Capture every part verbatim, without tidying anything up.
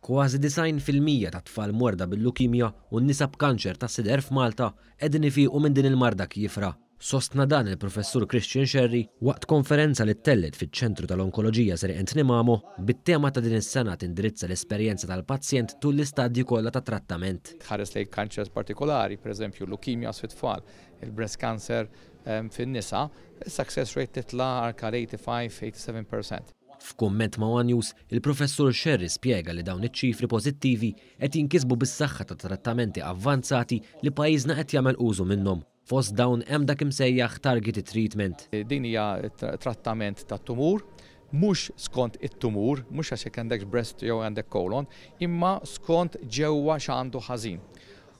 Kważi disgħin fil-mija ta' tfal morda bil-lukimja u n-nisa b'kanċer ta' sider f'Malta qegħdin ifiqu minn din il-marda kiefra. Sostna dan il-Professur Christian Scerri waqt konferenza li ttellet fiċ-Ċentru tal-Onkoloġija Sir Anthony Mamo bit-tema ta' din is-sena tindirizza l-esperjenza tal-pazjent tul l-istadji kollha ta' trattament. Tħares lejn kanċers partikolari, pereżempju leukemia fit-tfal, il-breast cancer fin-nisa, il-success rate titla' anke eighty-five eighty-seven percent. F'kumment ma' One News, il-Professur Scerri spjega li dawn iċ-ċifri pożittivi qed jinkisbu bis-saħħa ta' trattamenti avvanzati li pajjiżna qed jagħmel użu minnhom. Fost dawn hemm dak imsejjaħ targeted treatment. Din hija trattament ta' tumur, mhux skont it-tumur, mhux għax jekk għandek breast jew għandek colon, imma skont ġewwa x'għandu ħażin.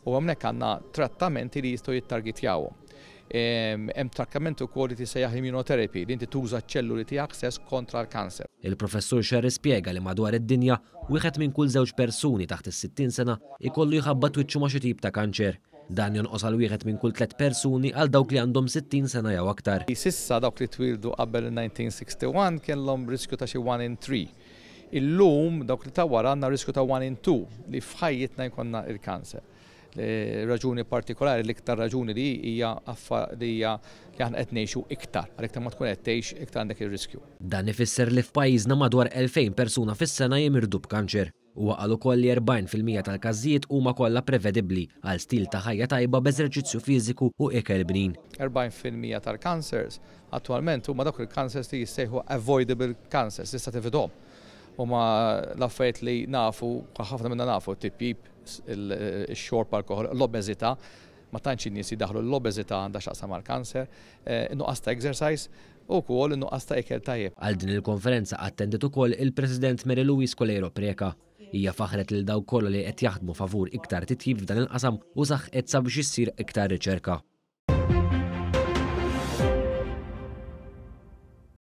U hawnhekk għandna trattamenti li jistgħu jittargetjawhom. Hemm trattament ukoll li tisejjaħ immunotherapy, li inti tuża ċ-ċelluli tiegħek stess kontra l-kanser. Il-Professur Scerri spjega li madwar id-dinja wieħed minn kull żewġ persuni taħt is-sittin sena ikollu jħabbat wiċċu ma' xi tip ta' kanċer. Dan jonqos għal wieħed minn kull tliet persuni għal dawk li għandhom sittin sena jew aktar. Sissa dawk li twildu qabel nineteen sixty-one kellhom riskju ta' xi one in three. Illum dawk li ta' wara għandna riskju ta' one in two li f'ħajjitna jkollna il-kanser. Raġuni partikolari, l-iktar raġuni li hija li hija li aħna qed ngħixu iktar, għal iktar ma tkun qed tgħix iktar għandek ir-riskju. Dan ifisser li f'pajjiżna madwar elfejn persuna fis-sena jimirdu b'kanċer. Huwa qal ukoll li erbgħin fil-mija tal-każijiet huma kollha prevedibbli għal stil ta' ħajja tajba b'eżerċizzju fiżiku u ikel bnin. Erbgħin fil-mija tal-kansers attwalment huma dawk il-kansers li jissejħu avoidable cancers, tista' tifidhom. Huma l-affarijiet li nafu, ħafna minna nafu, tipjip, il-xorb alkohol, l-obeżità, ma tantx in-nies jidaħlu l-obeżità għandha x'taqsam mal-kanser, eh, nuqqas ta' exercise u wkoll nuqqas ta' ikel tajjeb. Għal din il-konferenza attendiet ukoll il-President Mary Louise Coleiro Preca. Hija faħret lil dawk kollha li qed jaħdmu favur iktar titjib f'dan il-qasam u saħqet sabiex issir iktar riċerka.